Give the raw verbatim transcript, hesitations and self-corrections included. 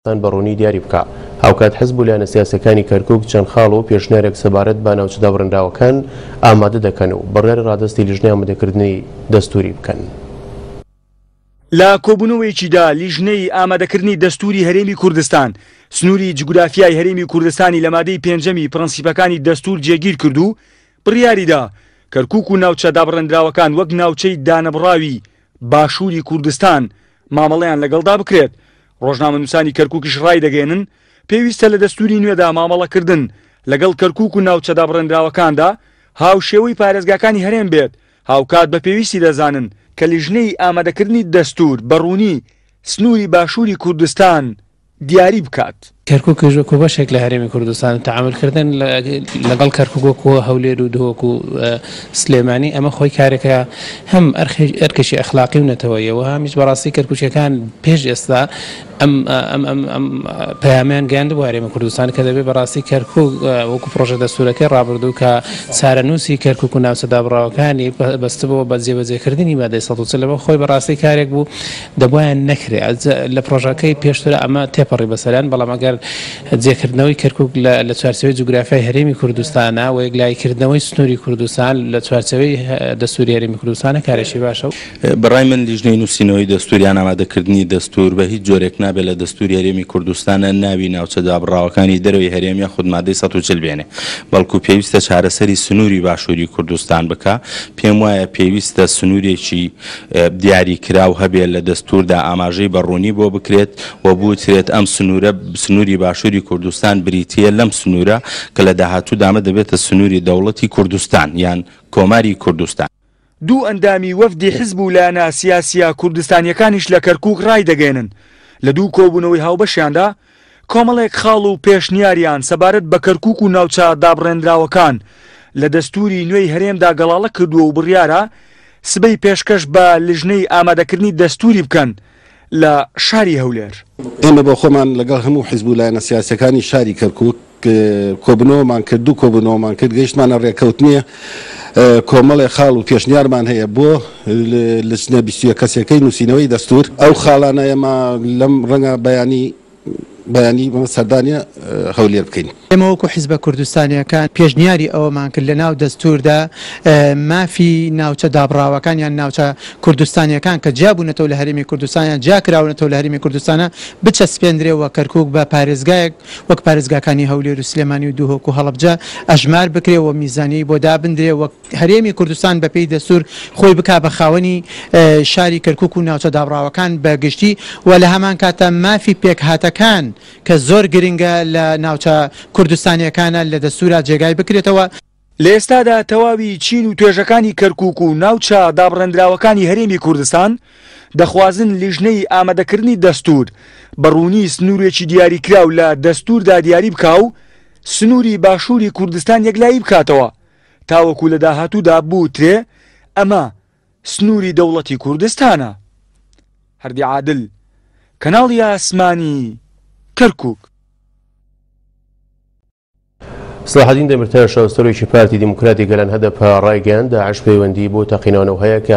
بە ڕوونی دیاری بکە. هاوکات حزب و لایەنە سیاسەکانی کەرکوک چەند خاڵ و پێشنیارێک سەبارەت بە ناوچە دابڕێنراوەکان ئامادە دەکەن و بڕیاری ڕادەستی لیژنەی ئامادەکردنی دەستوری بکەن. لە کۆبوونەوەیەکیدا لیژنەی ئامادەکردنی دەستوری هەرێمی کوردستان سنووری جوگرافیای هەرێمی کوردستانی لە مادەی پێنجەمی پرەنسیپەکانی دەستور جێگیر کرد و بڕیاریدا کەرکوک و ناوچە دابڕێنراوەکان وەک ناوچەی دانەبڕاوی باشووری کوردستان مامەڵەیان لەگەڵدا بکرێت. ڕۆژنامەنووسانی کەرکوکیش ڕای دەگەێنن پێویستە لە دەستوری نوێدا مامەڵەکردن لەگەڵ کەرکوک و ناوچە دابڕێنراوەکاندا هاوشێوەی پارێزگاکانی هەرێم بێت. هاوکات بە پێویستی دەزانن کە لیژنەی ئامادەکردنی دەستور بە ڕوونی سنووری باشووری کوردستان دیاری بکات. کەرکوکیش وەکو بەشێک لە هەرێمی کوردستان تەعاملکردن لەگەڵ کەرکوک وەکو هەولێر و دهۆک و سلێمانی ئەمە خۆی کارێکە هەم ئەرکێکی ئەخلاقی و نەتەوەیەوە هەمیش بەڕاستی کەرکوکیەکان پێش ئێستا ئەم ئەم ئەم ئەم پەیامیان گەیاندبوو هەرێمی کوردستان کە دەبێت بەڕاستی کەرکوک وەکو پرۆژە دەستورەکەی ڕابردوو کە چارەنووسی کەرکوک و ناوچە دابڕاوەکانی بەستبەوە بە جێبەجێکردنی مادەی سەد و چل لەمە خۆی بەڕاستی کارێک بوو دەبوایان نەکرێ. لە پرۆژەکەی پێشتر ئەمە تێپەڕی بەسەریان، بەڵام ئەگەر جێکردنەوەی کەرکوک لە چوارچێوەی جوگرافیای هەرێمی کوردستانە و یەکلاییکردنەوەی سنووری کوردستان لە چوارچێوەی دەستوری هەرێمی کوردستانە کارێکی باشە. بەڕای من لیژنەی نووسینەوەی دەستور یان ئامادەکردنی دەستور بە هیچ جۆرێک نابێت لە دەستوری هەرێمی کوردستانە ناوی ناوچە دابڕاوەکانی دەرەوەی هەرێم یاخود مادەی سەد و چل بێنێ، بەڵکو پێویستە چارەسەری سنووری باشووری کوردستان بکە. پێم وایە پێویستە سنوورێکی دیاریکراو هەبێت لە دەستوردا ئاماژەی بە ڕوونی بۆ بکرێت و بوترێت ئەم سنوورە سنووری باشووری کوردستان بریتیە لەم سنوورە کە لە داهاتوو دامە دەبێتە سنووری دەوڵەتی کوردستان یان کۆماری کوردستان. دوو ئەندامی وەفدی حزب و لایەنە سیاسیە کوردستانیەکانیش لە کەرکوک ڕای دەگەێنن لە دوو کۆبوونەوەی هاوبەشیاندا کۆمەڵێک خاڵ و پێشنیاریان سەبارەت بە کەرکوک و ناوچە دابڕێنراوەکان لە دەستوری نوێی هەرێمدا گەڵاڵە کردووە و بڕیارە سبەی پێشکەش بە لیژنەی ئامادەکردنی دەستوری بکەن لە شاری هەولێر. ئێمە بۆ خۆمان لەگەڵ هەموو حیزب و لایەنە سیاسەکانی شاری کەرکوک کۆبنەوەمان کرد، دوو کۆبنەوەمان کرد، گەیشتمانە ڕێکەوتنیە. کۆمەڵێ خاڵ و پێشنیارمان هەیە بۆ لجنە بیست و یەک کەسەکەی نووسینەوەی دەستور. ئەو خاڵانە ئێمە لەم ڕەنگە بەیانی بەیانی سەردانیە هەولێر بکەین. ئێمە وەکو حیزبە کوردستانیەکان پێشنیاری ئەوەمان کرد لە ناو دەستوردا مافی ناوچە دابڕاوەکان یان ناوچە کوردستانیەکان کە جیابوونەتەوە لە هەرێمی کوردستان یان جیاکراونەتەوە لە هەرێمی کوردستانە بچەسپێندرێەوە کەرکوک بە پارێزگایەک وەک پارێزگاکانی هەولێر و سلێمانی و دهۆک و هەڵەبجە ئەژمار بکرێەوە، میزانیەی بۆ دابندرێ وەک هەرێمی کوردستان بەپێی دەستور خۆی بکا بە خاوەنی شاری کەرکوک و ناوچە دابڕاوەکان بە گشتی و لە هەمان کاتە مافی پێکهاتەکان کە زۆر گرنگە لە ناوچە کوردستانیەکانە لە دەستورا جێگای بکرێتەوە. لە ئێستادا تەواوی چین و توێژەکانی کەرکوک و ناوچە دابڕێندراوەکانی هەرێمی کوردستان دەخوازن لیژنەی ئامادەکردنی دەستور بە ڕوونی سنوورێکی دیاریکراو لە دەستوردا دیاری بکا و سنووری باشووری کوردستان یەکلایی بکاتەوە تاوەکو لە داهاتوودا بوترێ ئەمە سنووری دەوڵەتی کوردستانە. هەردی عادل، کەناڵی ئاسمانی کەرکوک. سەلاحەدین دەمیرتاش سەرۆکی پارتی دیموکراتی گەلان هەدەپە ڕایگەیاند داعش پەیوەندی بۆ تەقینەوەنەوە هەیە کە